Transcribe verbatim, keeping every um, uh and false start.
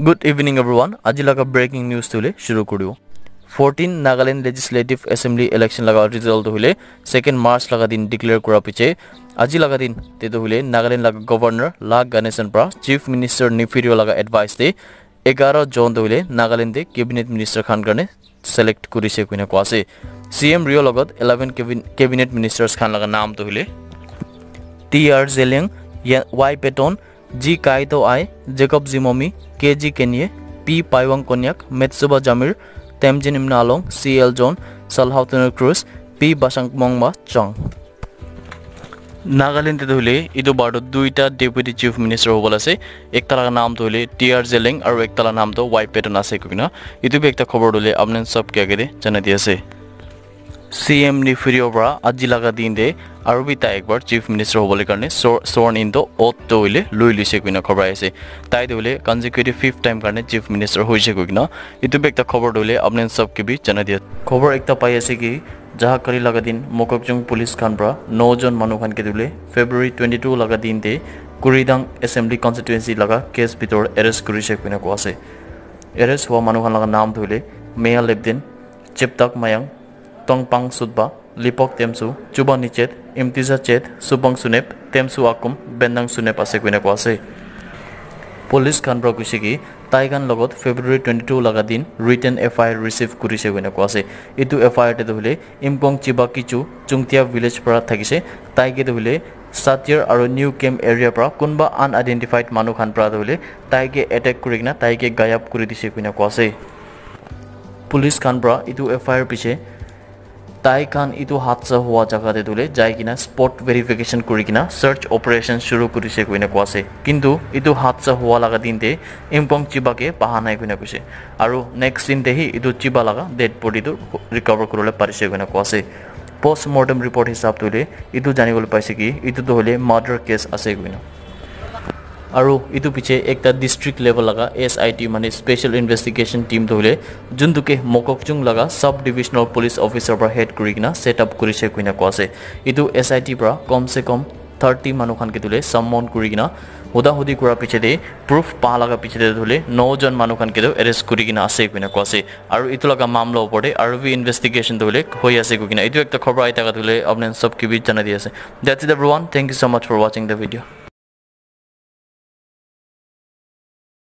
Good evening everyone. Aji laga breaking news tu le shuru kuribo. Fourteen Nagaland Legislative Assembly election laga result tu hule second March laga din declare kura piche aji laga din te tu hule Nagaland laga governor La Ganesan pra Chief Minister Neiphiu Rio laga advice te egaroh jon tu hule Nagaland te cabinet minister khan karne select kurise koina koa ase. C M Rio logot eleven cabin- cabinet ministers khan laga naam tu hule T R Zeliang, Y Patton, G Kaito Aye, Jacob Zimomi, K G Kenie, P Paiwang Konyak, Metsuba Jamir, Temjin Imna Along, C L John, Salhautuner Cruz, P Basangmongba Chang. Nagaland te tu hule itu bar tu duita deputy chief minister hobole ase. Ekta laga naam tu hule T R Zeliang aru ekta laga naam tu Y Patton ase koina itu bi ekta khobor tu hule apni khan sob ke age te janai di ase. C M Neiphiu Rio pra aji laga din te aru bi tai ekbar chief minister hobole karne sworn in to oath to hule lui lise koina khobor ase. Tai tu hule consecutive fifth time karne chief minister hoise koina itu bi ekta khobor tu hule apni khan sob ke bi janai di ase. Khobor ekta pai ase ki Jahakali laga din Mokokchung police khan pra no jon manu khan ke tu hule February twenty two laga din te Kuridang Assembly Constituency laga case bitor arrest kurise koina koa ase. Arrest hua manu khan laga naam tu hule Meya Lepden, Cheptak Mayang, Tongpang Sutba, Lipok Temsu, Chuba Nichet, Imtiza Chet, Supang Sunep, Temsu Akum, Bendang Sunep ase koina koa ase. Police khan pra koise ki tai khan logot February twenty two laga din written F I R receive kurise koina koa ase. Itu F I R te tu hule Imkong Chiba Kichu Chungtia village pra thakise, tai ke tu hule Satir aru New Camp area pra kunba unidentified manu khan pra tu hule tai ke attack kuri kena tai ke gayab kuri dise koina koa ase. Police khan pra itu F I R piche tai khan itu hadsa hua jaga te tu hule jai kena spot verification kuri kena search operation shuru kurise koina koa ase. Kintu itu hadsa hua laga din te Imkong Chiba ke paha nai koina koise. Aru next din te hi itu Chiba laga dead body tu recover kuribole parise koina koa ase. Post mortem report hisab tu hule itu janibole paise ki itu tu hule murder case ase koina. Aru itu piche ekta district level laga S I T mane special investigation team tu hule juntu ke Mokokchung laga sub divisional police officer pra head kuri kena set up kurise koina koa ase. Itu S I T pra kom se kom thirty manu khan ke tu hule summon kuri kena huda hudi kura piche te proof pa laga piche te tu hule no jon manu khan ke tu arrest kuri kena ase koina koa ase. Aru itu laga mamla opor te aru bi investigation tu hule hoi ase koi kena itu ekta khobor ahi thaka tu hule apni khan sob ke bi janai di ase. That's it everyone. Thank you so much for watching the video.